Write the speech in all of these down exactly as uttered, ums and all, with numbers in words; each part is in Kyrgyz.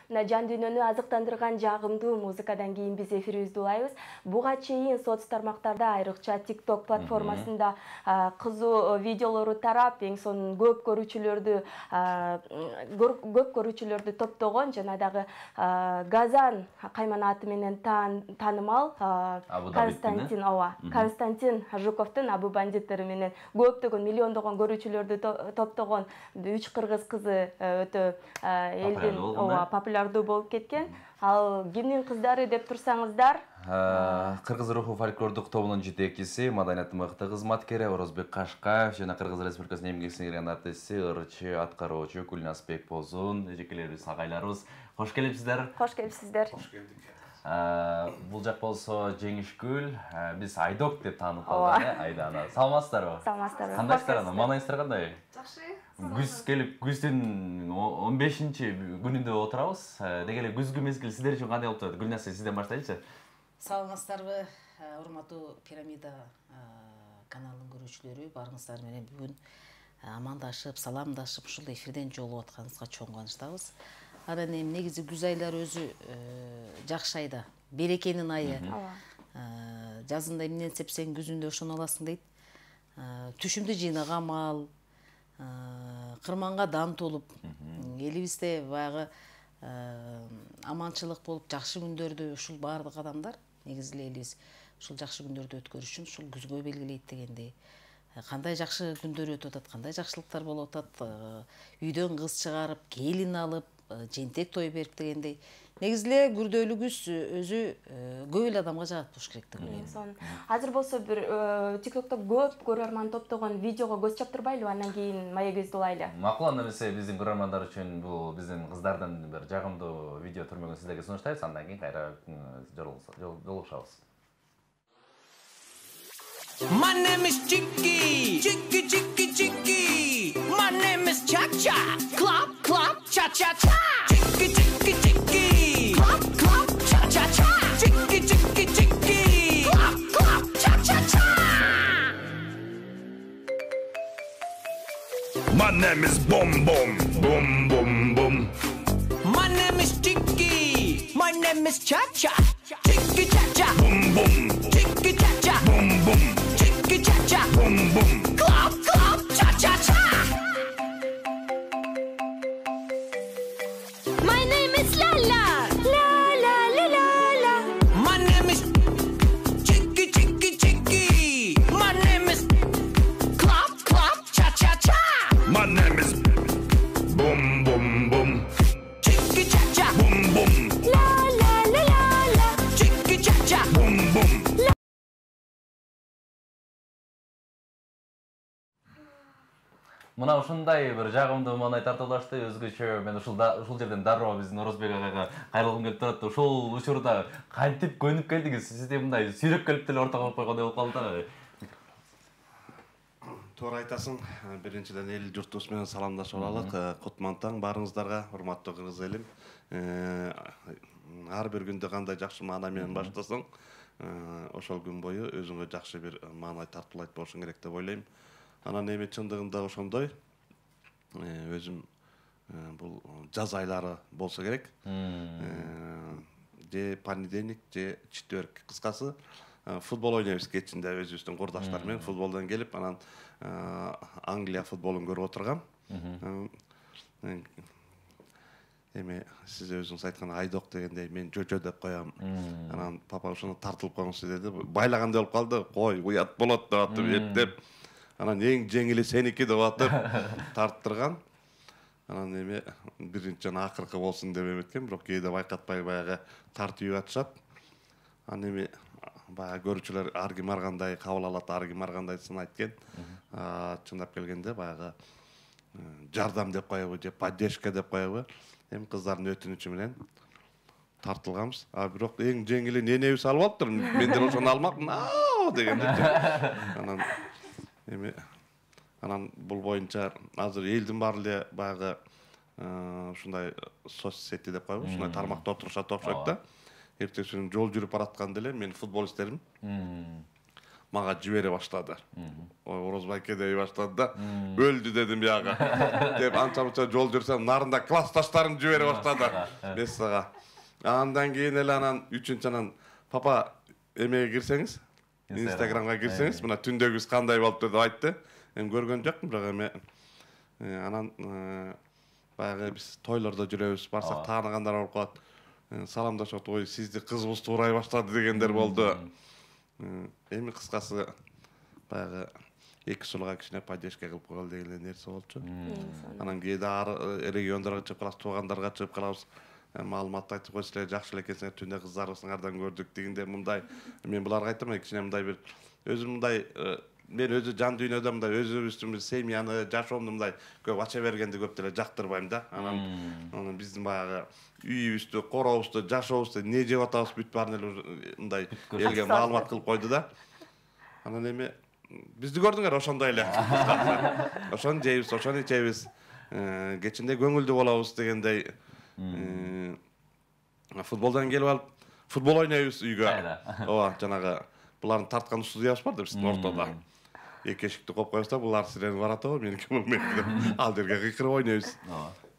мына жан дүйнөнү азыктандырган жагымдуу музыкадан кийин биз эфирибизди улайбыз. Буга чейин соц тармактарда, айрыкча TikTok платформасында кызуу видеолору тарап, эң сонун көп көрүүчүлөрдү көп көрүүчүлөрдү топтогон жана дагы Газан кайманаты менен таанымал Константин Ова Константин Жуковдун Абу бандиттери менен көптөгөн миллиондогон көрүүчүлөрдү топтогон үч кыргыз кызы өтө элдин ооба популярдуу болуп кеткен. Ал кимдин кыздары деп турсаңыздар, Кыргыз руху фольклордук тобунун жетекчиси, маданияттын мыкты кызматкери Орозбек Кашкаев жана Кыргыз Республикасынын эмгек сиңирген артисти, ырчы, аткаруучу Гүлназ Бекбозун, эжекелерибиз, агайларыбыз. Кош келипсиздер. Кош келипсиздер. Кош келдик. Бул жак болсо Жеңишгүл, биз Айдок деп таанып калдык, э, Айдана. Саламатсыздарбы? Саламатсыздарбы. Кандайсыздар ана? Маанайыңыздар кандай? Жакшы. Күз келип, күздүн он бешинчи күнүндө отурабыз. Деги эле күзгү мезгил сиздер үчүн кандай болуп турат? Гүлназ, сизден баштайлычы. Саламатсыздарбы, урматтуу Пирамида каналынын көрүүчүлөрү, барыңыздар менен бүгүн амандашып, саламдашып, ушул эфирден жолугуп атканыбызга чоң кубанычтабыз. Анан эми негизи күз айлары өзү жакшы айда, берекенин айы. Жазында эмнени сепсең күзүндө ошону аласың дейт. Түшүмдү жыйнаган мал, кырманга дан толуп, элибизде баягы аманчылык болуп, жакшы күндөрдү ушул баардык адамдар негизи элибиз ушул жакшы күндөрдү өткөрүш үчүн ушул күзгө белгилейт дегендей. Кандай жакшы күндөр өтүп атат, кандай жакшылыктар болуп атат, үйдөн кыз чыгарып, келин алып, жентек той берип дегендей. Негизи эле күрдөөлүү күз өзү көп эле адамга жагат болуш керек деп ойлойм. Азыр болсо бир TikTok'то көп көрөрман топтогон видеого көз чаптырбайлыбы, андан кийин маегибизди улайлы. Макул, анда эмесе биздин көрөрмандар үчүн бул биздин кыздардын бир жагымдуу видео түрмөгүн сиздерге сунуштайбыз, андан кийин кайра жолугушабыз. My name is Chicky, Chicky, Chicky, Chicky. My name is Cha-Cha, clap, clap, cha-cha-cha. Chicky, Chicky, Chicky, clap, clap, cha-cha-cha. Chicky, Chicky, Chicky, clap, clap, cha-cha-cha. My name is Boom Boom, Boom Boom Boom. My name is Chicky, my name is Cha-Cha. Chicky, Cha-Cha, Boom Boom, Chicky, Cha-Cha, Boom Boom, Chicky, Cha-Cha, Boom Boom. clap, clap, cha-cha-cha. My name is Lala. La la la la la. My name is Chicky, Chicky, Chicky. My name is clap, clap, cha-cha-cha. My name is Boom Boom Boom, Chicky, Cha-Cha, Boom Boom, La la la la la. Chicky, Cha-Cha. Boom Boom. Мына ушундай бир жагымдуу маанай тартуулашты, өзгөчө. Мен ушул ушул жерден дароо биздин Орозбек агайга кайрылгым келип турат. Ушул учурда кантип көнүп келдиңиз? Сизде мындай сүйрөп келип деле ортого коюп койгондой болуп калды да. Туура айтасың. Биринчиден эл журтубуз менен саламдашып алалык. Кутман таң барыңыздарга, урматтуу кыргыз элим. Ар бир күндө кандай жакшы маанай менен баштасаң, ошол күн бою өзүңө жакшы бир маанай тартуулайт болушуң керек деп ойлойм. Анан эми чындыгында ошондой. Өзүм бул жаз айлары болсо керек. Же понедельник, же четверг. Кыскасы футбол ойнойбуз кечинде өзүбүздүн курдаштар менен футболдон келип, анан Англия футболун көрүп отургам. Эми сиз өзүңүз айткан Айдок дегендей мен жожо деп коям. Анан папа ошону тартылып коюңузчу деди. Байлагандай болуп калды. Кой, уят болот деп атып эптеп. Анан эң жеңили сеники деп атып тарттырган. Анан эми биринчи жана акыркы болсун деп эметкен, бирок кээде байкатпай баягы тартып атышат. Анан эми баягы көрүүчүлөр ар ким ар кандай кабыл алат, ар ким ар кандайсын айткен. Чындап келгенде баягы жардам деп коебу же поддержка деп коебу. Эми кыздардын өтүнүчү менен тартылганбыз. А бирок эң жеңили ненебиз алып алыптыр. Мен деле ошону алмакмын. Аа дегенде. Анан эми анан бул боюнча азыр элдин баары эле баягы ушундай соцсети деп коебу, ушундай тармакта отурушат окшойт да. Эртеси күнү жол жүрүп баратканда эле мен футболисттерим. мага жибере баштады. Ой, Орозбайке дей баштады да, өлдү дедим бияга. Деп анча мынча жол жүрсөм, нарында классташтарым жибере баштады. Мессага. Андан кийин эле анан үчүнчү анан папа эмеге кирсеңиз, Инстаграмга кирсеңиз, мына түндөгүбүз кандай болупту деп айтты. Эми көргөн жокмун, бирок эме анан баягы биз тойлордо жүрөбүз, барсак тааныгандар болуп калат. Саламдашып, ой, сизди кызыбыз туурай баштады дегендер болду. Эми кыскасы баягы эки сулга кичине поддержка кылып койгол деген нерсе болчу. Анан кээде ар региондорго чыгып калабыз, туугандарга чыгып калабыз. Маалымат айтып койсуздар, жакшы эле экенсиңер, түндө кыздарыбыздардан көрдүк дегенде мындай. Мен буларга айттым, кичине мындай бир өзүм мындай мен өзү жан дүйнөдө мындай өзүбүздүн бир семьяны, жашоомду мындай көп ача бергенди көп деле жактырбайм да. Анан анан биздин баягы үйүбүздү, корообузду, жашообузду не жеп атабыз бүт баарын эле мындай элге маалымат кылып койду да. Анан эми бизди көрдүңөр ошондой эле. Ошону жейбиз, ошону ичебиз. Кечинде көңүлдүү болобуз дегендей. Футболдон келип алып, футбол ойнойбуз үйгө. Ооба, жанагы булардын тарткан студиябыз бар да биздин ортодо. Эки эшикти коюп коебуз да, булар силердин барат го, меники бул меники. Ал жерге кыйкырып ойнойбуз.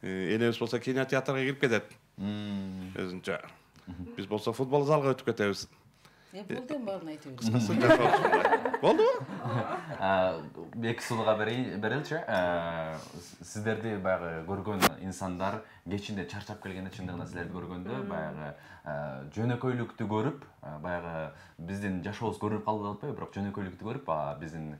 Энебиз болсо кинотеатрга кирип кетет. Өзүнчө. Биз болсо футбол залга өтүп кетебиз. Э, болду эми баарын айтып бересиз. Болдубу? Эки сулга береличи. Сиздерди баягы көргөн инсандар кечинде чарчап келгенде, чындыгында силерди көргөндө баягы жөнөкөйлүктү көрүп, баягы биздин жашообуз көрүнүп калды деп атпайбы, бирок жөнөкөйлүктү көрүп, биздин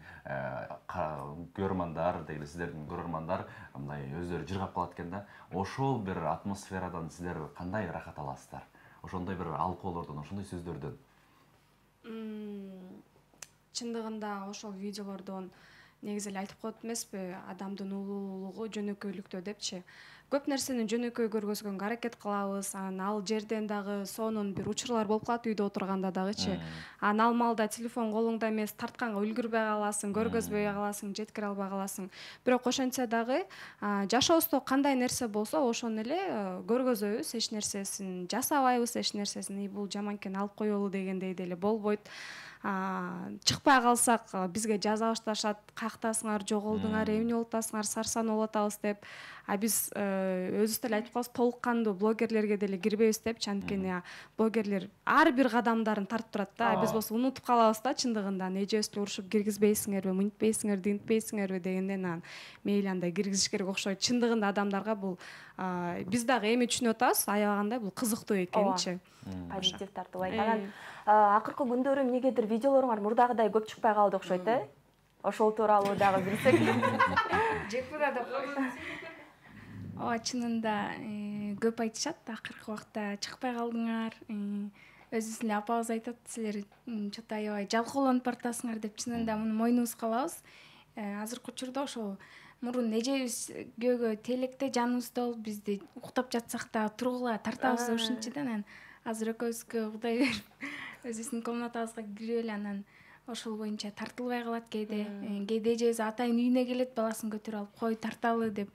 көрөрмандар, деги сиздердин көрөрмандар мындай өздөрү жыргап калат экен да. Ошол бир атмосферадан сиздер кандай рахат аласыздар? Ошондой бир алкоолордон, ошондой сөздөрдөн. Чындыгында ошол видеолордон негизи эле айтып коет эмеспи, адамдын улуулугу жөнөкөйлүктө депчи. Көп нерсени жөнөкөй көргөзгөнгө аракет кылабыз, анан ал жерден дагы сонун бир учурлар болуп калат үйдө отурганда дагычы. Анан ал маалда телефон колуңда эмес, тартканга үлгүрбөй каласың, көргөзбөй каласың, жеткире албай каласың. Бирок ошентсе дагы жашообузда кандай нерсе болсо, ошону эле көргөзөбүз, эч нерсесин жасабайбыз, эч нерсесин бул жаман экен алып коелу дегендей деле болбойт. Чыкпай калсак бизге жаза башташат, каяктасыңар, жоголдуңар, эмне болуп атасыңар, сарсан болуп атабыз деп. А биз өзүбүз деле айтып калабыз, толук кандуу блогерлерге деле кирбейбиз депчи, анткени блогерлер ар бир кадамдарын тартып турат да. Биз болсо унутуп калабыз да чындыгында, эжебиз деле урушуп киргизбейсиңерби, мынтпейсиңер, динтпейсиңерби дегенден анан мейли андай киргизиш керек окшойт. Чындыгында адамдарга бул биз дагы эми түшүнүп атабыз, аябагандай бул кызыктуу экенчи. Позитив тартып айткан. Акыркы күндөрү эмнегедир видеолоруңар мурдагыдай көп чыкпай калды окшойт, э? Ошол тууралуу дагы билсек. Жекпуда деп койсоң. Ооба, чынында көп айтышат, акыркы убакта чыкпай калдыңар. Өзүбүз эле апабыз айтат, силер чота аябай жалкоолонуп баратасыңар деп. Чынында муну мойнубузга алабыз. Азыркы учурда ошол мурун эжебиз күйөөгө телекте жаныбызда болуп, бизди уктап жатсак да тургула тартабыз деп ушинчи да. Анан азыр экөөбүзгө Кудай берип, өзүбүздүн комнатабызга кирип эле анан ошол боюнча тартылбай калат кээде. Кээде эжебиз атайын үйүнө келет, баласын көтөрүп алып, кой тарталы деп.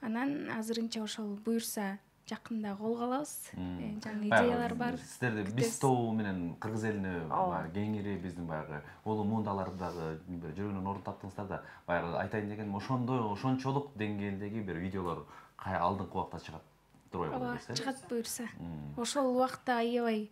Анан азырынча ошол буюрса жакында колго алабыз. Жаңы идеялар бар. Сиздерде биз тобу менен кыргыз элине кеңири биздин баягы улуу муундалардагы жүргөнүн ордун таптыңыздар да. Баягы айтайын дегеним, ошондой ошончолук деңгээлдеги бир видеолор алдыңкы убакта чыгат. Ооба, чыгат буюрса. Ошол убакта аябай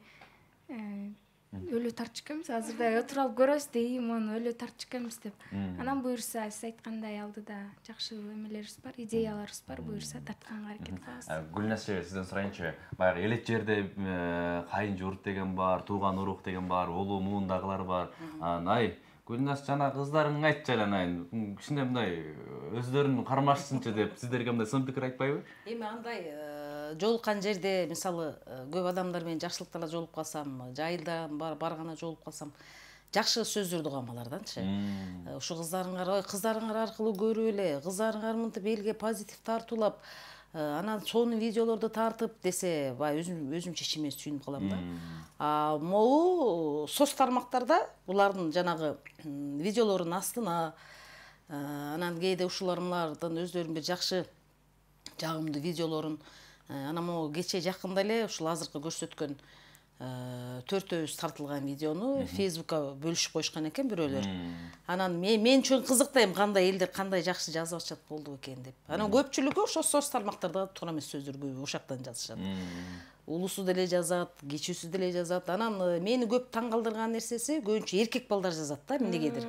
өлө тартчу экенбиз. Азырда отуруп алып көрөбүз дейм, мону өлө тартчу экенбиз деп. Анан буюрса, сиз айткандай алдыда жакшы эмелерибиз бар, идеяларыбыз бар, буюрса тартканга аракет кылабыз. Гүлназ эже, сизден сурайынчы, баягы элет жерде кайын журт деген бар, тууган урук деген бар, улуу муундагылар бар. Ай, Гүлназ жана кыздарың айтчы айын, кичине мындай өздөрүн кармашсынчы деп сиздерге мындай сын пикир айтпайбы? Эми андай жолуккан жерде, мисалы, көп адамдар менен жакшылыктарда жолугуп калсам, жайылдан барганда жолугуп калсам, жакшы сөздөрдү угам аларданчы. Ушу кыздарыңар, ой, кыздарыңар аркылуу көрүп эле, кыздарыңар мынтип элге позитив тартуулап, анан сонун видеолорду тартып десе, бай өзүм өзүмчө ичиме сүйүнүп калам да. А могу соц тармактарда булардын жанагы видеолордун астына, анан кээде ушулардын өздөрүнүн бир жакшы жагымдуу видеолорун, анан могу кече жакында эле ушул азыркы көрсөткөн төртөөбүз тартылган видеону Facebookка бөлүшүп коюшкан экен бирөөлөр. Анан мен мен үчүн кызык да эми кандай элдер кандай жакшы жазып атышат болду экен деп. Анан көпчүлүгү ошо соц тармактарда туура эмес сөздөр көп ошактан жазышат. Улусу деле жазат, кичүүсү деле жазат. Анан мени көп таң калтырган нерсеси көбүнчө эркек балдар жазат да эмнегедир.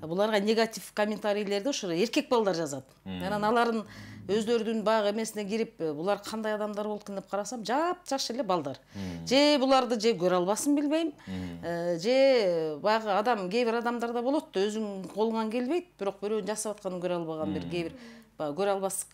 Буларга негатив комментарийлерди ошо эркек балдар жазат. Анан алардын өздөрүнүн баягы эмесине кирип, булар кандай адамдар болуп экен деп карасам, жап-жаш эле балдар. Же буларды же көрө албасын билбейм, же баягы адам, кээ бир адамдарда болот да өзүң колуңан келбейт, бирок бирөөнүн жасап атканын көрө албаган бир кээ бир көрө албас.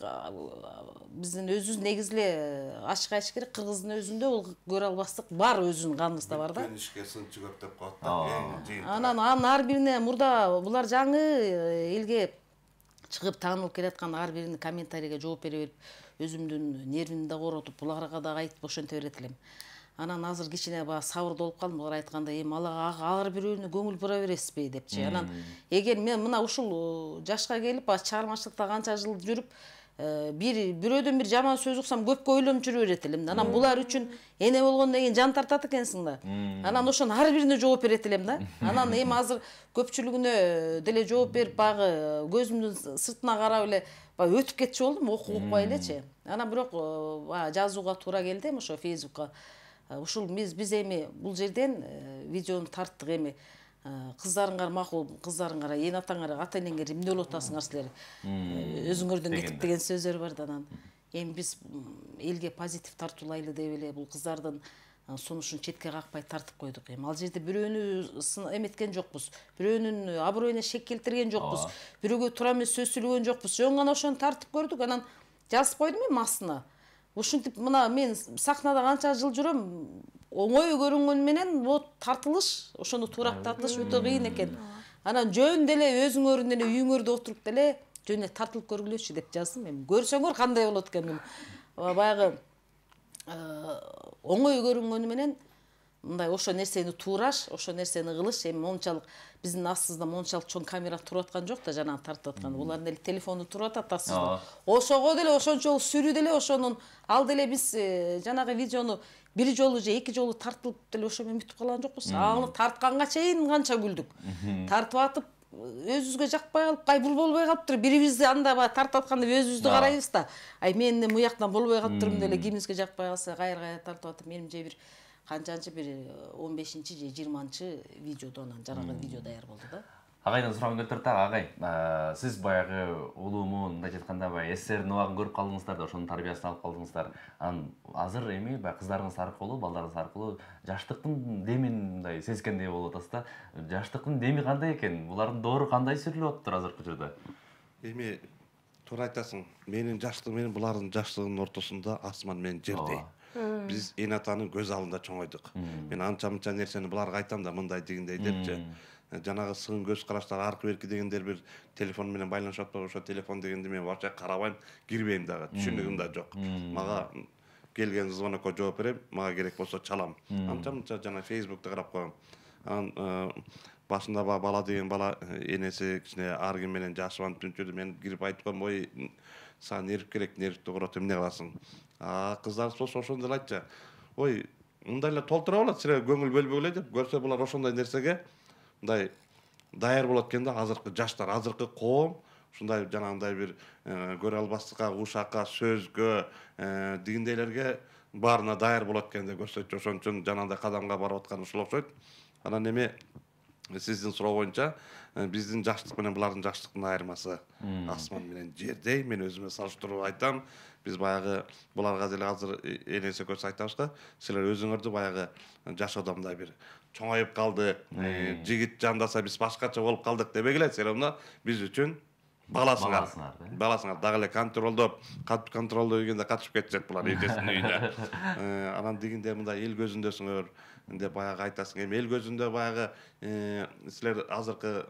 Биздин өзүбүз негизи эле ачык айтыш керек, кыргыздын өзүндө бул көрө албастык бар, өзүнүн каныбызда бар да. Ишке сынчы көп деп коет да. Анан анын ар бирине мурда булар жаңы элге чыгып таанылып келаткан ар биринин комментарийге жооп бере берип, өзүмдүн нервимди да коротуп, буларга да айтып ошентип берет элем. Анан азыр кичине баягы сабырдуу болуп калдым. Булар айткандай, эми ар бирөөнү көңүл бура бересизби депчи. Анан эгер мен мына ушул жашка келип, чыгармачылыкта канча жыл жүрүп, бир бирөөдөн бир жаман сөз уксам көпкө ойлонуп жүрө берет элем. Анан булар үчүн эне болгондон кийин жан тартат экенсиң да. Анан ошонун ар бирине жооп берет элем да. Анан эми азыр көпчүлүгүнө деле жооп берип, баягы көзүмдүн сыртына карап эле баягы өтүп кетчү болдум, окуп укпай элечи. Анан бирок баягы жазууга туура келди эми ошо Facebookка. Ушул биз биз эми бул жерден видеону тарттык эми. Кыздарыңар макул, кыздарыңар, эне атаңар, ата энеңер эмне болуп атасыңар силер? Өзүңөрдөн кетип деген сөздөр бар да. Анан эми биз элге позитив тартуулайлы деп эле бул кыздардын сунушун четке какпай тартып койдук. Эми ал жерде бирөөнү эметкен жокпуз, бирөөнүн аброюна шек келтирген жокпуз, бирөөгө туура эмес сөз сүйлөгөн жокпуз. Жөн гана ошону тартып көрдүк. Анан жазып койдум эми астына. Ушинтип мына мен сахнада канча жыл жүрөм, оңой көрүнгөнү менен вот тартылыш, ошону турактатыш өтө кыйын экен. Анан жөн деле өзүңөрдүн эле үйүңөрдө отуруп деле жөн эле тартылып көргүлөчү деп жаздым. Эми көрсөңөр кандай болот экен. Баягы оңой көрүнгөнү менен мындай ошо нерсени туураш, ошо нерсени кылыш, эми мончалык биздин астыбызда мончалык чоң камера туруп аткан жок да, жанагы тартып аткан. Булардын эле телефону туруп атат астыбызда. Ошого деле ошончолук сүрүү деле ошонун ал деле биз жанагы видеону бир жолу же эки жолу тартылып деле ошо менен бүтүп калган жокпуз. Аны тартканга чейин канча күлдүк. Тартып атып өзүбүзгө жакпай калып, ай бул болбой калыптыр. Бирибизди анда баягы тартып атканда өзүбүздү карайбыз да. Ай мен эмне буяктан болбой калыптырмын деле кимибизге жакпай калса, кайра-кайра тартып атып менимче бир канчанчы бир он бешинчи же жыйырманчы видеодо анан жанагы видео даяр болду да. Агайдан сурагым келип турат, агай. Сиз баягы улуумун мындай айтканда баягы СССРдин убагын көрүп калдыңыздар да, ошонун тарбиясын алып калдыңыздар. Анан азыр эми баягы кыздарыңыз аркылуу, балдарыңыз аркылуу жаштыктын демин мындай сезгендей болуп атасыз да. Жаштыктын деми кандай экен? Булардын доору кандай сүрүлүп атыптыр азыркы учурда? Эми туура айтасың. Менин жаштыгым менен булардын жаштыгынын ортосунда асман менен жердей. Биз эне атанын көз алдында чоңойдук. Мен анча-мынча нерсени буларга айтам да, мындай дегендей депчи. Жанагы сын көз караштар аркы берки дегендер бир телефон менен байланышып атпайбы, ошо телефон дегенди мен вообще карабайм, кирбейм дагы, түшүнүгүм да жок. Мага келген звонокко жооп берем, мага керек болсо чалам. Анча-мынча жана Facebook'та карап коем. Анан башында бала деген бала энеси кичине ар ким менен жашыбанып түнчүдү. Мен кирип айтып коем, ой, сага нерв керек, нервти корот, эмне кыласың? А кыздарыбыз болсо ошондой эле айтчу. Ой, мындай эле толтура болот, силер көңүл бөлбөй эле деп. Көрсө булар ошондой нерсеге мындай даяр болот экен да, азыркы жаштар, азыркы коом ушундай жанагындай бир көрө албастыкка, ушакка, сөзгө, дегендейлерге баарына даяр болот экен деп көрсөтчү. Ошон үчүн жанагындай кадамга барып аткан ушул окшойт. Анан эми сиздин суроо боюнча биздин жаштык менен булардын жаштыктын айырмасы асман менен жердей. Мен өзүмө салыштырып айтам. Биз баягы буларга деле азыр энеси көз айтабыз го. Силер өзүңөрдү баягы жашоодо мындай бир чоңоюп калдык, жигит жандаса биз башкача болуп калдык дебегиле. Силер мына биз үчүн баласыңар. Баласыңар дагы эле контролдоп, контролдоо дегенде катышып кетишет булар эжесинин үйүнө. Анан дегенде мындай эл көзүндөсүңөр деп баягы айтасың. Эми эл көзүндө баягы силер азыркы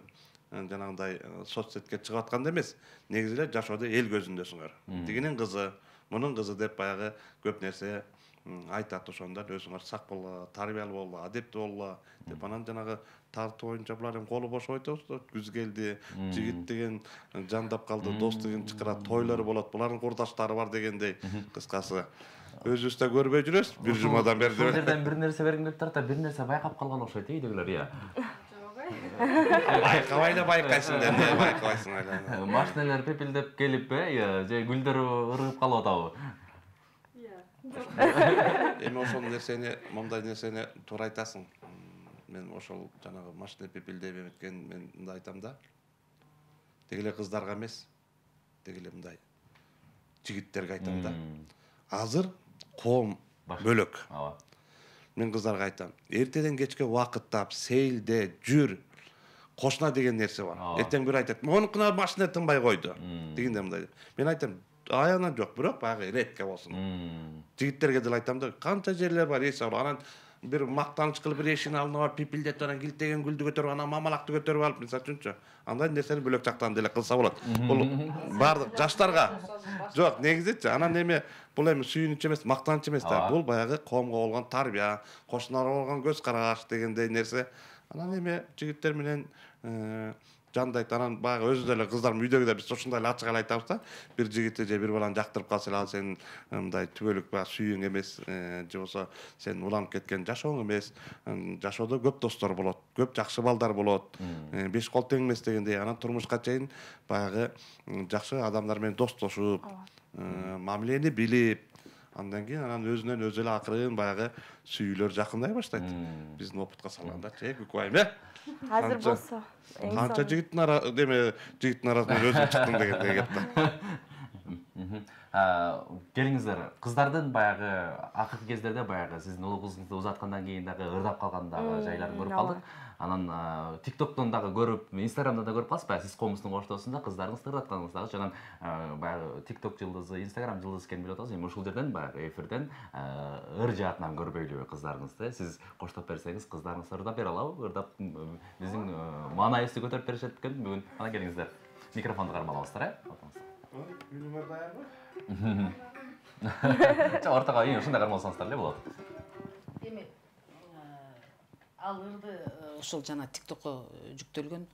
жанагындай соцсетке чыгып атканда эмес, негизи эле жашоодо эл көзүндөсүңөр. Тигинин кызы, мунун кызы деп баягы көп нерсе айтат. Ошондон өзүңөр сак болгула, тарбиялуу болгула, адептүү болгула деп. Анан жанагы тартуу боюнча булар эми колу бош айтабыз да, күз келди, жигит деген жандап калды, дос деген чакырат, тойлор болот, булардын курдаштары бар дегендей. Кыскасы өзүбүз да көрбөй жүрөбүз бир жумадан бери. Бул жерден бир нерсе бергим келип турат да, бир нерсе байкап калган окшойт үйдөгүлөр, иә. Байкабай эле байкайсың да, эмне байкабайсың эле. Машиналар пепелдеп келип, э, же гүлдөр ыргып калып атабы? Эми ошол нерсени, мондай нерсени туура айтасың. Мен ошол жанагы машина пепелдеп эметкен мен мындай айтам да. Деги эле кыздарга эмес, деги эле мындай жигиттерге айтам да. Азыр коом бөлөк. Ооба. Мен кыздарга айтам, эртеден кечке убакыттап, сейилде, жүр. Кошуна деген нерсе бар. Эртең бир айтат, "Монукуна машина тынбай койду." Дегенде мындай. Мен айтам, аянан жок, бирок баягы редко болсун. Жигиттерге деле айтам да, канча жерлер бар, эс алып, анан бир мактаныч кылып бир эшигин алдына барып пипилдетип, анан килтеген гүлдү көтөрүп, анан мамалакты көтөрүп алып, мисалы үчүнчү. Андай нерсени бөлөк жактан деле кылса болот. Бул бардык жаштарга. Жок, негизичи, анан эме бул эми сүйүнүч эмес, мактаныч эмес да. Бул баягы коомго болгон тарбия, кошуналарга болгон көз караш дегендей нерсе. Анан эме жигиттер менен жандайт, анан баягы өзү деле кыздарым үйдөгү да биз ушундай эле ачык эле айтабыз да. Бир жигитти же бир баланы жактырып калса эле ал сенин мындай түбөлүк баягы сүйүүң эмес, же болсо сен уланып кеткен жашооң эмес. Жашоодо көп достор болот, көп жакшы балдар болот. Беш кол тең эмес дегендей, анан турмушка чейин баягы жакшы адамдар менен достошуп, мамилени билип, андан кийин анан өзүнөн өзү эле акырын баягы сүйүүлөр жакындай баштайт. Биздин опытка салганда, "Эй, Күкүбайым, э? Азыр болсо Канча жигиттин ара, деме, жигиттин арасынан өзүм чыктым дегендей кеп да. Келиңиздер, кыздардын баягы акыркы кездерде баягы сиздин улуу кызыңызды узаткандан кийин дагы ырдап калган дагы жайларын көрүп калдык. Анан TikToктон дагы көрүп, Instagramдан да көрүп каласыз баягы сиз комуздун коштоосунда кыздарыңызды ырдатканыңыз дагы жаган баягы TikTok жылдызы, Instagram жылдызы экенин билип атабыз. Эми ушул жерден баягы эфирден ыр жаатынан көрбөйлүбү кыздарыңызды? Сиз коштоп берсеңиз, кыздарыңыз ырдап бере алабы? Ырдап биздин маанайыбызды көтөрүп беришет экен бүгүн. Ана келиңиздер. Микрофонду кармалабыздар, э? Күнүңөр даярбы? Жа ортого эми ушундай кармалсаңыздар эле болот. Эми ал ырды ошол жана TikTokко жүктөлгөн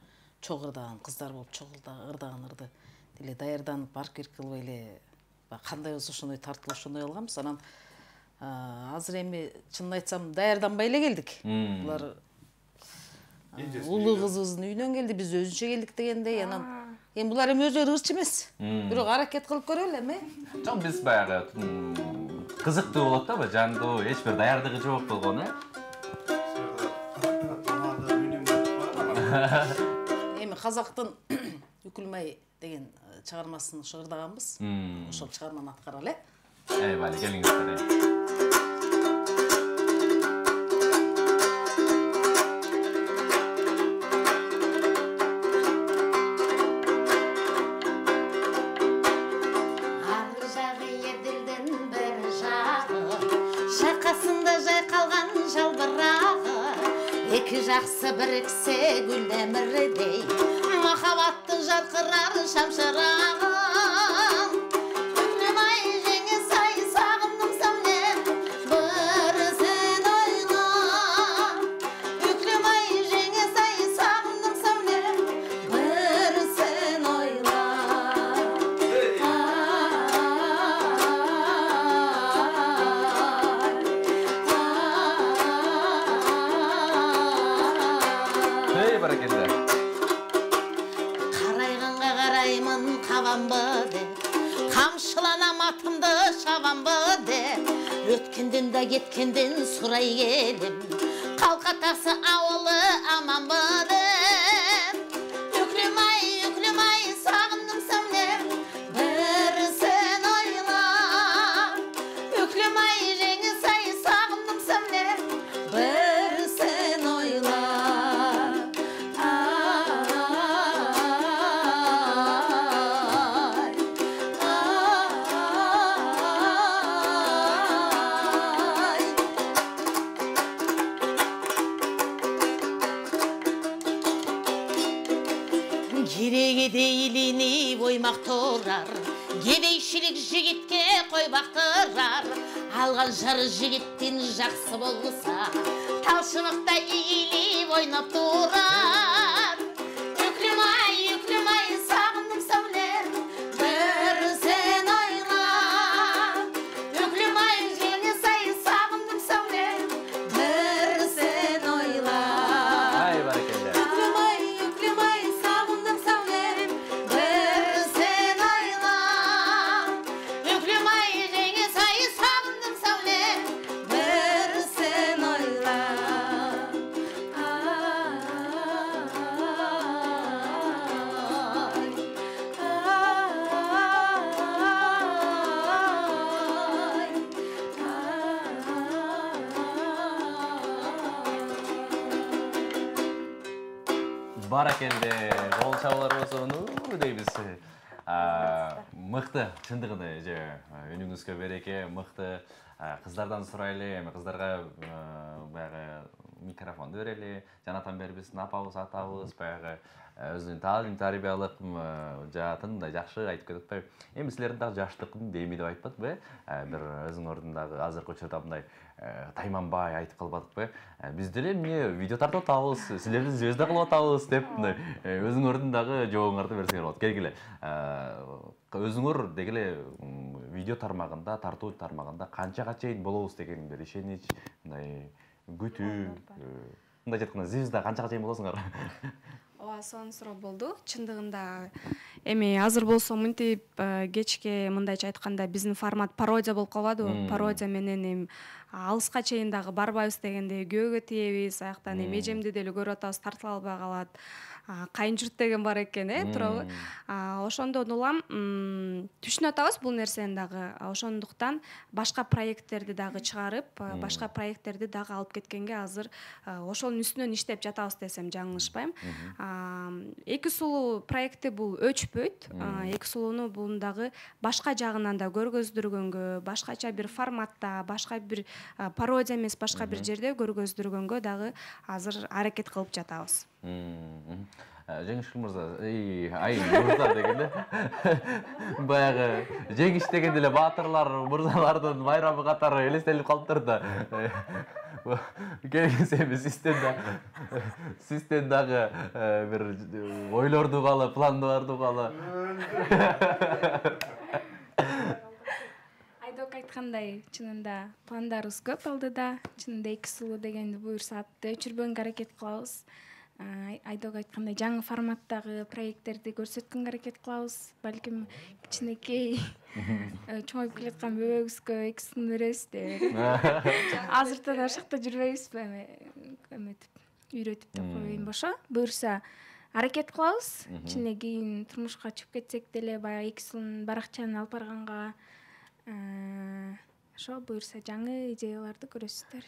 чогуу ырдаган кыздар болуп, чогуу ырдаган ырды деле даярданып, аркир кылбай эле кандай болсо ошондой тартылып ошондой алганбыз. Анан азыр эми чынын айтсам даярданбай эле келдик. Булар улуу кызыбыздын үйүнөн келди, биз өзүнчө келдик дегендей. Анан эми булар эми өзүлөрү ырчы эмес. Бирок аракет кылып көрөлү эми. Жок, биз баягы кызыктуу болот да, жандуу, эч бир даярдыгы жок болгон, э? Эми казактын Үкүлмай деген чыгармасын ырдаганбыз. Ошол чыгарманы аткаралы. Эй, бали, келиңиздер. Эки жаксы бириксе гүл эмирдей, махабаттын жаркырар шамшырагы. Үкүлмай жеңиз ай сагындым самнем, bir sen oyla. Үкүлмай жеңиз ай сагындым самнем, bir sen oyla. Карайганга караймын кабанбы деп, камшыланам атымды шабанбы деп, өткөндөн да кеткенден сурай келем, калка таксы абалы аманбы деп. Үкүлмай, үкүлмай сагындым самнем, bir sen oyla. Үкүлмай жеңиз ай сагындым самнем, bir sen oyla. Кереге дейлини бой коймак турар, кедейшилик жигитке койбак турар. Алган жары жигиттин жаксы болса, талшыбыкта ийилип ойноп турар. Үклүм ай, үклүм ай, сагындым саулем, бир сен ойла. Үклүм ай, жеңиз ай, сагындым саулем, бир сен ойла. Ай, баракелде. Үклүм ай, үклүм ай, сагындым саулем, бир сен ойла. Үклүм ай, жеңиз ай, сагындым саулем, бир сен ойла. Баракелде, кол чабууларыбыз нуу дейбиз. Мыкты, чындыгында же үнүңүзгө береке, мыкты. Кыздардан сурайлы, эми кыздарга баягы микрофонду берели. Жанатан бери биздин апабыз, атабыз, баягы өзүнүн таалим тарбиялык жаатын мындай жакшы айтып кетип. Эми силердин дагы жаштыкын дейми деп айтпадыкпы? Бир өзүңөрдүн дагы азыркы учурда мындай тайманбай айтып калбадыкпы? Биз деле эмне видео тартып атабыз, силерди звезда кылып атабыз деп мындай өзүңөрдүн дагы жообуңарды берсеңер болот. Келгиле. Өзүңөр дегеле видео тармагында, тартуу тармагында канчага чейин болобуз деген бир ишенич, мындай күтүү, мындай айтканда звезда канчага чейин болосуңар? Ооба, сонун суроо болду. Чындыгында эми азыр болсо мынтип кечке мындайча айтканда биздин формат пародия болуп калбадыбы? Пародия менен эми алыска чейин дагы барбайбыз дегенде күйөөгө тиебиз, аяктан эми эжемди деле көрүп атабыз, тартыла албай калат. Кайын журт деген бар экен, э, туурабы? Ошондон улам түшүнүп атабыз бул нерсени дагы. Ошондуктан башка проекттерди дагы чыгарып, башка проекттерди дагы алып кеткенге азыр ошонун үстүнөн иштеп жатабыз десем жаңылышпайм. Эки сулуу проекти бул өчпөйт. Эки сулууну бул дагы башка жагынан да көргөздүргөнгө, башкача бир форматта, башка бир пародия эмес, башка бир жерде көргөздүргөнгө дагы азыр аракет кылып жатабыз. Жеңишкүл мырза, ай мырза дегенде баягы жеңиш дегенде эле баатырлар, мырзалардын майрамы катары элестелип калыптыр да. Келгенсе эми систем да систем дагы бир ойлорду калы, пландарды калы. Айдок айткандай, чынында пландарыбыз көп алдыда. Чынында эки сулуу дегенди буюрса атты өчүрбөнгө аракет кылабыз. Айдок айткандай жаңы форматтагы проекттерди көрсөткөнгө аракет кылабыз. Балким кичинекей чоңоюп келаткан бөбөгүбүзгө эки сулууну беребиз деп. Азыртан ашыкта жүрбөйбүзбү эми эметип, үйрөтүп деп коеюн бошо. Буюрса аракет кылабыз. Кичине кийин турмушка чыгып кетсек деле баягы эки сулуунун баракчаны алып барганга ошо буюрса жаңы идеяларды көрөсүздөр.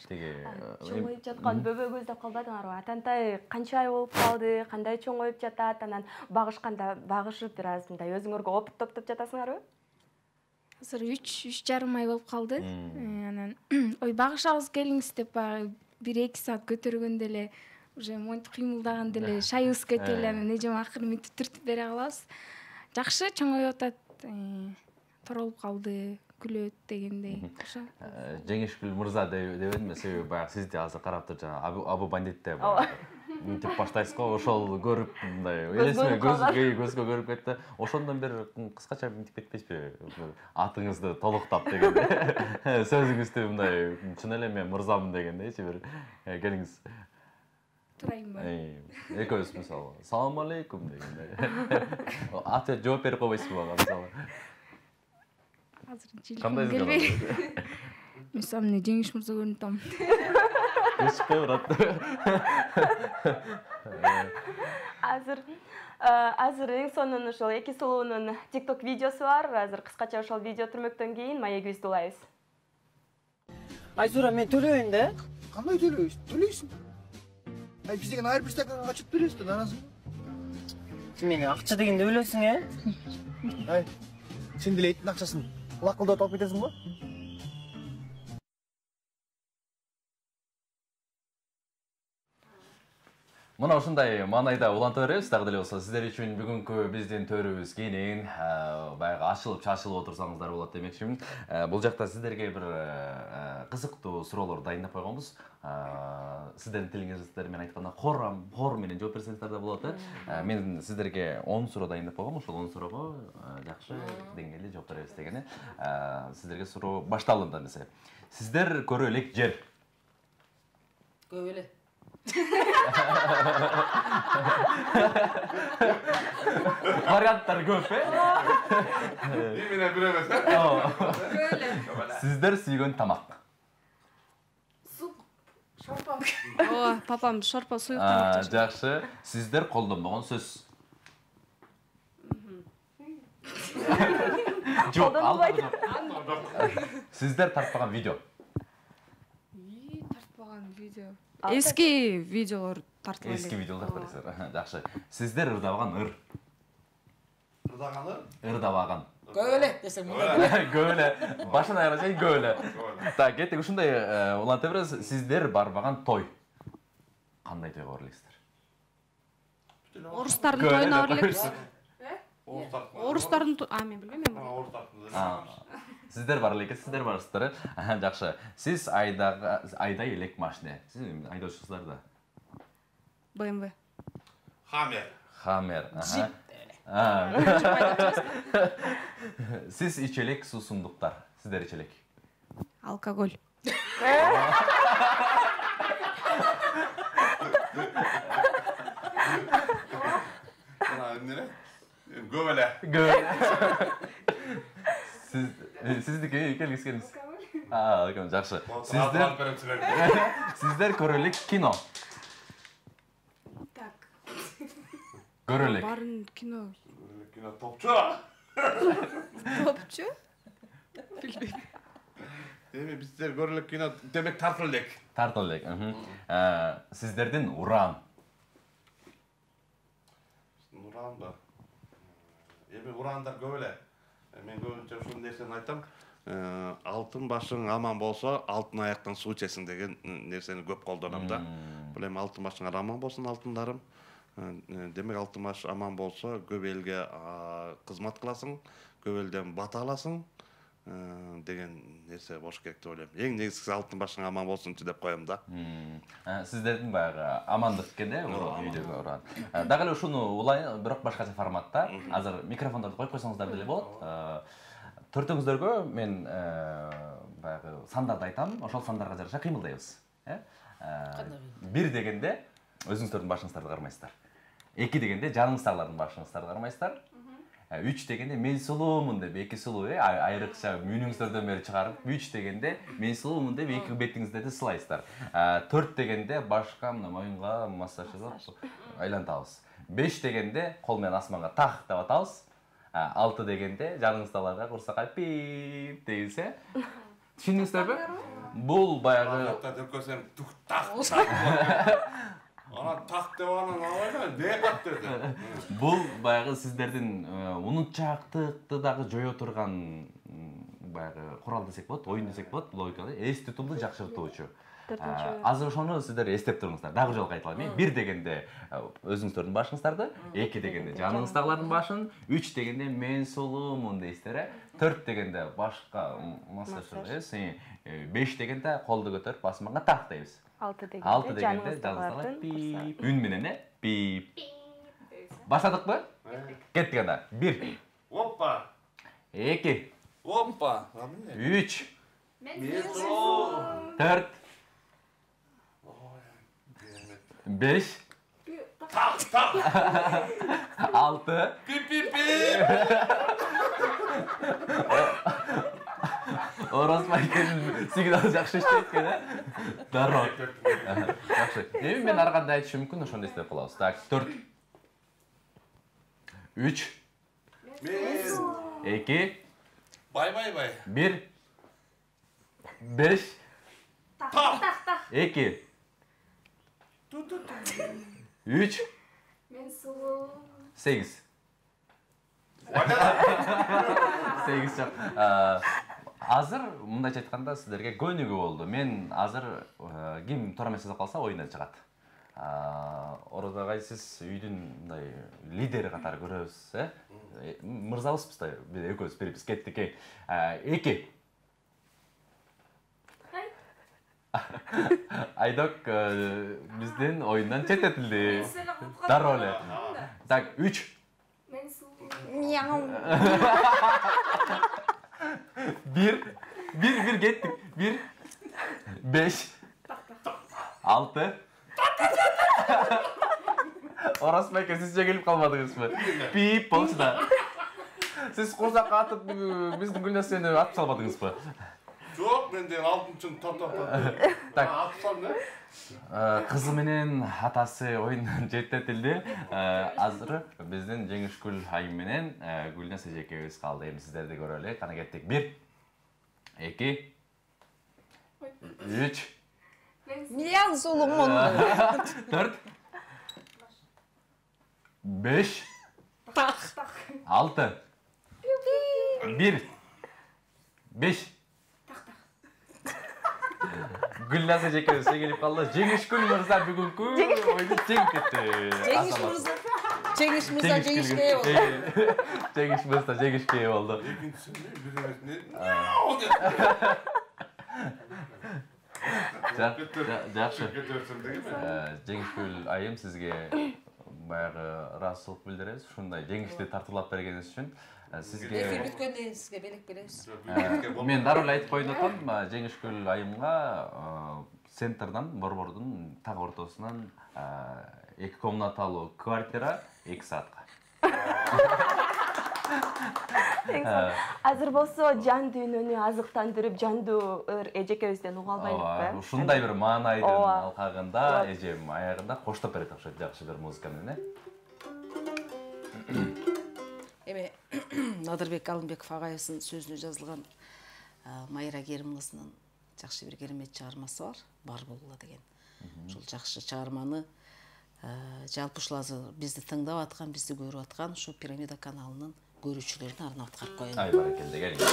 Чоңоюп жаткан бөбөгүбүз деп калбадыңарбы? Атантай канча ай болуп калды, кандай чоңоюп жатат, анан багышканда багышып бир аз мындай өзүңөргө опыт топтоп жатасыңарбы? Азыр үч үч жарым ай болуп калды. Анан ой багышабыз келиңиз деп баягы бир эки саат көтөргөндө эле уже монтип кыймылдаганда эле шайыбыз кетип эле анан эжем акыры мынтип түртүп бере калабыз. Жакшы чоңоюп атат. Торолуп калды, күлөт дегендей. Ошо. Жеңишкүл мырза дебедимби, себеби баягы сизди азыр карап тур жана Абу Бандитте мынтип баштайсыз го, ошол көрүп мындай элесиме көзгө көрүп кетти. Ошондон бир кыскача мынтип кетпейсизби? Атыңызды толуктап дегенде. Сөзүңүздү мындай чын эле мен мырзамын дегендейчи бир келиңиз. Турайынбы? Экөөбүз мисалы салам алейкум дегенде. Атып жооп берип койбойсузбу мага мисалы? Азыр жилким келбей. Мен самне жеңиш мырза көрүнүп атам. Эчпе брат. Азыр азыр эң сонун ошол эки сулуунун TikTok видеосу бар. Азыр кыскача ошол видео түрмөктөн кийин маегибизди улайбыз. Айзура, мен төлөйүн да? Кандай төлөйсүң? Төлөйсүң. Ай, биз деген ар бир стаканга качып беребиз да, наразымын. Сен мени акча дегенде өлөсүң, э? Ай, сен деле эттин акчасын лакылдатып алып кетесиң го? Мына ушундай маанайда уланта беребиз. Дагы деле болсо сиздер үчүн бүгүнкү биздин төрүбүз кенен, баягы ачылып чачылып отурсаңыздар болот демекчимин. Бул жакта сиздерге бир кызыктуу суроолор дайындап койгонбуз. Сиздердин тилиңиздер менен айтканда хор хор менен жооп берсеңиздер да болот. Мен сиздерге он суроо дайындап койгом. Ошол он суроого жакшы деңгээлде жооп беребиз дегени. Сиздерге суроо башталды эмесе. Сиздер көрө элек жер. Көп эле. Варианттар көп, э? Эмне бир эмес, э? Сиздер сүйгөн тамак. Суп, шорпа. Ооба, папам шорпа суюк тамак жашайт. Жакшы. Сиздер колдонбогон сөз. Жок, албайт. Сиздер тартпаган видео. И, тартпаган видео. Эски видеолор тартып Эски видеолор тартасыздар. Жакшы. Сиздер ырдабаган ыр. Ырдаган ыр? Ырдабаган. Көп эле десем мындай. Көп эле. Башын аягына чейин көп эле. Так, кеттик. Ушундай уланта беребиз. Сиздер барбаган той. Кандай тойго бара элексиздер? Орустардын тоюна бара элекпиз. Орустардын. Орустардын, а мен билбейм, мен барам. Орустардын. Сиздер бар элек, сиздер барсыздар. Жакшы. Сиз айдага айдай элек машина. Сиз айдоочусуздар да. бэ эм вэ. Хаммер. Хаммер. Сиз иче элек суусундуктар. Сиздер иче элек. Алкоголь. Ana эмне? Көп эле. Көп эле. Сиз сиздики келгизгенбиз. А, окей, жакшы. Сиздер Сиздер көрө элек кино. Так. Көрө элек. Барын кино. Кино топчу. Топчу? Билбейм. Эми биздер көрө элек кино, демек тартыл элек. Тартыл элек. Сиздердин уран. Уран ба. Эми урандар көп эле. Мен көбүнчө ушул нерсени айтам. Алтын башың аман болсо, алтын аяктан суу ичесиң деген нерсени көп колдонам да. Бул эми алтын башыңар аман болсун алтындарым. Демек алтын баш аман болсо, көп элге кызмат кыласың, көп элден бата аласың деген нерсе болуш керек деп ойлойм. Эң негизгиси алтын башың аман болсунчу деп коем да. Сиздердин баягы амандык экенде, үйдөгү уран. Дагы эле ушуну улай, бирок башкача форматта. Азыр микрофондорду коюп койсоңуздар деле болот. Төртөөңүздөргө мен баягы сандарды айтам, ошол сандарга жараша кыймылдайбыз. Бир дегенде өзүңүздөрдүн башыңыздарды кармайсыздар. Эки дегенде жаныңыздагылардын башыңыздарды кармайсыздар. Үч дегенде мен сулуумун деп, эки сулуу айрыкча мүйнүңүздөрдөн бери чыгарып, үч дегенде мен сулуумун деп эки бетиңиздерди сылайсыздар. Төрт дегенде башка мына моюнга массаж жасап айлантабыз. Беш дегенде кол менен асманга так деп атабыз. Алты дегенде жаныңыздагыларга курсакка пип дейбиз, э? Түшүндүңүздөрбү? Бул баягы Дөкөсөм тук так. Ана так деп анан алайла, не кат деди. Бул баягы сиздердин унутчаактыкты дагы жое турган баягы курал десек болот, оюн десек болот, логикада эс тутумду жакшыртуучу. Азыр ошону сиздер эстеп туруңуздар. Дагы жолу кайталам. Бир дегенде өзүңүздөрдүн башыңыздарды, эки дегенде жаныңыздагылардын башын, үч дегенде мен сулуумун дейсиздер, э? Төрт дегенде башка массаж жасайсыз, беш дегенде колду көтөрүп асманга так дейбиз. Алты дегенде жаныңыздагылар пип, үн менен, э? Пип. Баштадыкпы? Кеттик анда. Бир. Оппа. Эки. Оппа. Үч. Төрт. Беш. Так, так. Алты. Пип-пип-пип. Оразбайкенин сигналы жакшы иштейт экен, э? Дароо. Жакшы. Эми мен ар кандай айтышым мүмкүн, ошондо эстеп калабыз. Так, төрт. Үч. Эки. Бай-бай-бай. Бир. Беш. Так, так, так. Эки. Үч. Мен сулуу. Сегиз. Сегиз жок. Азыр мындайча айтканда сиздерге көнүгүү болду. Мен азыр ким туура эмес жазып калса оюндан чыгат. Ородогай сиз үйдүн мындай лидери катары көрөбүз, э? Мырзабызбыз да, биз экөөбүз беребиз, кеттик. Эки. Айдок биздин оюндан четтетилди. Дароо эле. Так, үч. Бир. Бир, бир кеттик. Бир. Беш. Алты. Оросбек, сиз жеңилип калмадыңызбы? Пип болчу да. Сиз курсакка атып биздин Гүлнасени атып салбадыңызбы? Жок, мен деген алтынчыны топтоптоп. Так. Атып салдым, э? Кызы менен атасы оюндан четтетилди. Азыр биздин Жеңишгүл айым менен Гүлнас эжекебиз калды. Эми сиздерди көрөлү. Кана кеттик. Бир. Эки. Үч. Миллион сулуңмун. Төрт. Беш. Алты. Бир. Беш. Гүлназ эжекебиз жеңилип калды. Жеңишгүл мырза бүгүнкү оюнду жеңип кетти. Жеңиш мырза. Жеңиш мырза жеңишке ээ болду. Жеңиш мырза жеңишке ээ болду. Жакшы. Жеңишгүл айым сизге баягы ыраазычылык билдиребиз. Ушундай жеңишти тартуулап бергениңиз үчүн. Сизге эфир бүткөндөн кийин сизге белек беребиз. Мен дароо эле айтып коеюн атам, Жеңишгүл айымга центрдан, Борбордун так ортосунан эки комнаталуу квартира эки саатка. Азыр болсо жан дүйнөнү азыктандырып, жандуу эжекебизден уга албайлыкпы? Ушундай бир маанайдын алкагында эжем аягында коштоп берет окшойт, жакшы бир музыка менен, э? Эми Надырбек Алымбеков агайыбыздын сөзүнө жазылган Майра Керим кызынын жакшы бир керемет чыгармасы бар, Бар болгула деген. Ушул жакшы чыгарманы жалпы ушул азыр бизди тыңдап аткан, бизди көрүп аткан ушу Пирамида каналынын көрүүчүлөрүнө арнап аткарып коеюн. Ай баракелде, келиңиз.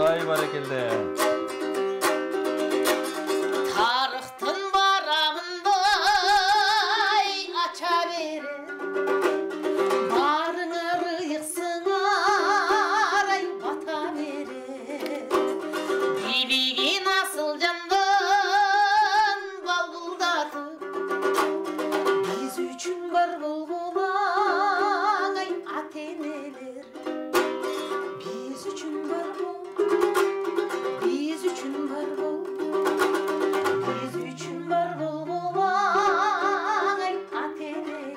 Ай баракелде. Тарыхтын барагындай ача бере, барыңар ыйыксыңар ай бата бере. Бийлигин асыл жандын балбулдатып, биз үчүн бар болгулаң ай ата-энелер. Биз үчүн бар бол, биз үчүн бар бол, биз үчүн бар болгулаң ай ата-энелер.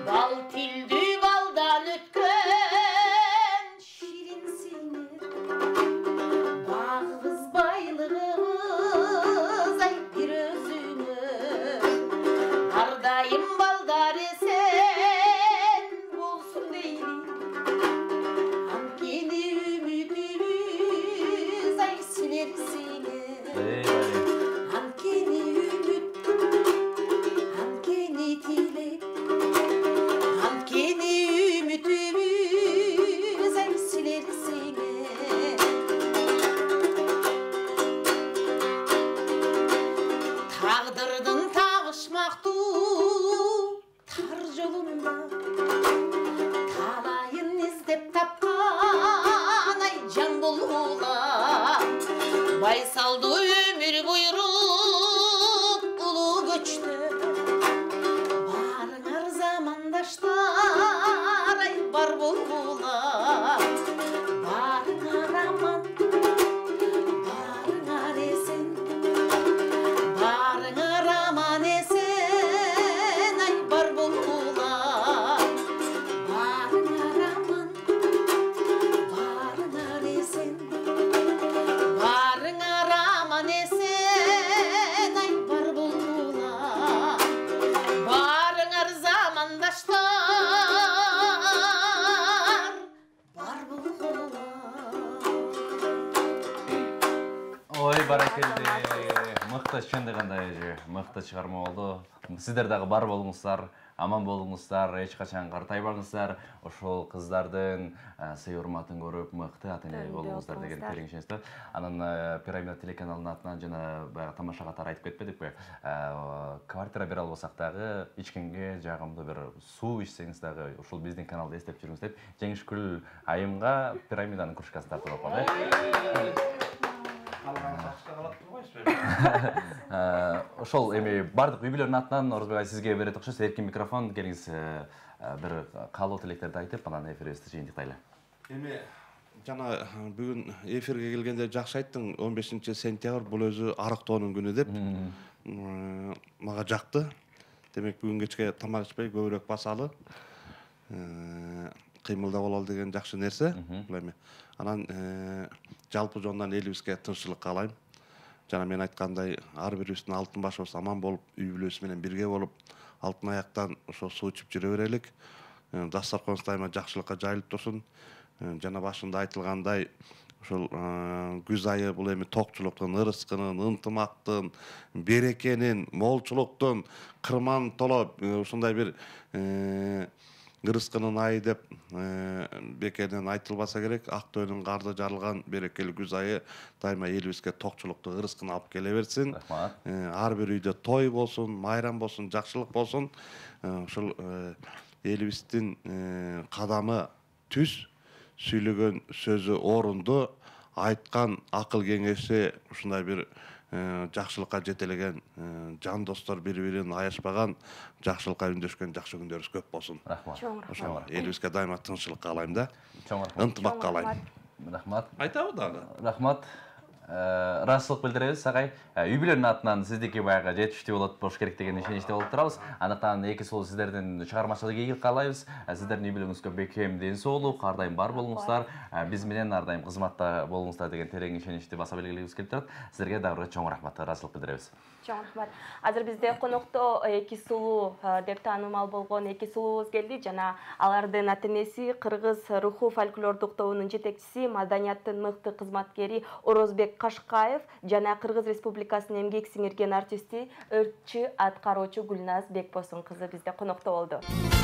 Бал тилдүү балдан өткөн ширинсиңер, багыбыз байлыгыбыз ай бир өзүңөр. Ар дайым балдар эсен болсун дейли, анткени үмүтүбүз ай силерсиңер. Анткени үмүт, анткени тилек, анткени үмүтүбүз ай силерсиңер. Тагдырдын табышмактуу тар жолунда талайын издеп тапкан ай жан болгула. Байсалдуу өмүр буйруп улуу көчтө, барыңар замандаштар мыкты, чындыгында кандай мыкты чыгарма болду. Сиздер дагы бар болуңуздар, аман болуңуздар, эч качан картайбаңыздар. Ошол кыздардын сый урматын көрүп, мыкты ата-эне болуңуздар деген терең ишенем. Анан Пирамида телеканалынын атынан жана баягы тамаша катары айтып кетпедикпи? Квартира бере албасак дагы эч кимге жагымдуу бир суу ичсеңиз дагы ушул биздин каналды эстеп жүрүңүз деп Жеңишгүл айымга Пирамиданын кружкасын тартып алып калды. Ошол эми бардык үй-бүлөнүн атынан Орозбек ай сизге берет окшойт. Эркин микрофон, келиңиз бир каалоо тилектерди айтып, анан эфирибизди жыйынтыктайлы. Эми жана бүгүн эфирге келгенде жакшы айттың, он бешинчи сентябрь бул өзү арыктоонун күнү деп. Мага жакты. Демек бүгүн кечке тамак ичпей көбүрөөк басалы. Кыймылда бололу деген жакшы нерсе. Бул эми анан жалпы жондан элибизге тынччылык каалайм. Жана мен айткандай, ар бирибиздин алтын башыбыз аман болуп, үй-бүлөсү менен бирге болуп, алтын аяктан ошо суу ичип жүрө берелик. Дастарконубуз дайыма жакшылыкка жайылып турсун. Жана башында айтылгандай, ошол күз айы бул эми токчулуктун, ырыскынын, ынтымактын, берекенин, молчулуктун, кырман толо ушундай бир ырыскынын айы деп бекерден айтылбаса керек. Актөөнүн карды жарылган берекелүү күз айы дайыма элибизге токчулукту, ырыскын алып келе берсин. Ар бир үйдө той болсун, майрам болсун, жакшылык болсун. Ушул элибиздин кадамы түз, сүйлөгөн сөзү орунду, айткан акыл кеңеши ушундай бир жакшылыкка жетелеген жан достор, бири-бирин аяшпаган, жакшылыкка үндөшкөн жакшы күндөрүбүз көп болсун. Рахмат. Ошо элибизге дайыма тынччылык каалайм да. Чоң рахмат. Ынтымак каалайм. Рахмат. Айтабы дагы. Рахмат. Ыраазычылык билдиребиз агай. Үй-бүлөнүн атынан сиздики баягы жетиштүү болот болуш керек деген ишеничте болуп турабыз. Андыктан эки сулуу сиздердин чыгармачылык ийгилик каалайбыз. Сиздердин үй-бүлөңүзгө бекем ден соолук, ар дайым бар болуңуздар, биз менен ар дайым кызматта болуңуздар деген терең ишеничти баса белгилегибиз келип турат. Сиздерге дагы чоң рахмат, ыраазычылык билдиребиз. Чоң рахмат. Азыр бизде конокто эки сулуу деп таанымал болгон эки сулуубуз келди. Жана алардын ата-энеси Кыргыз руху фольклордук тобунун жетекчиси, маданияттын мыкты кызматкери Орозбек Кашкаев жана Кыргыз Республикасынын эмгек сиңирген артисти, өртчү аткаруучу Гүлназ Бекбосун кызы бизде конокто болду.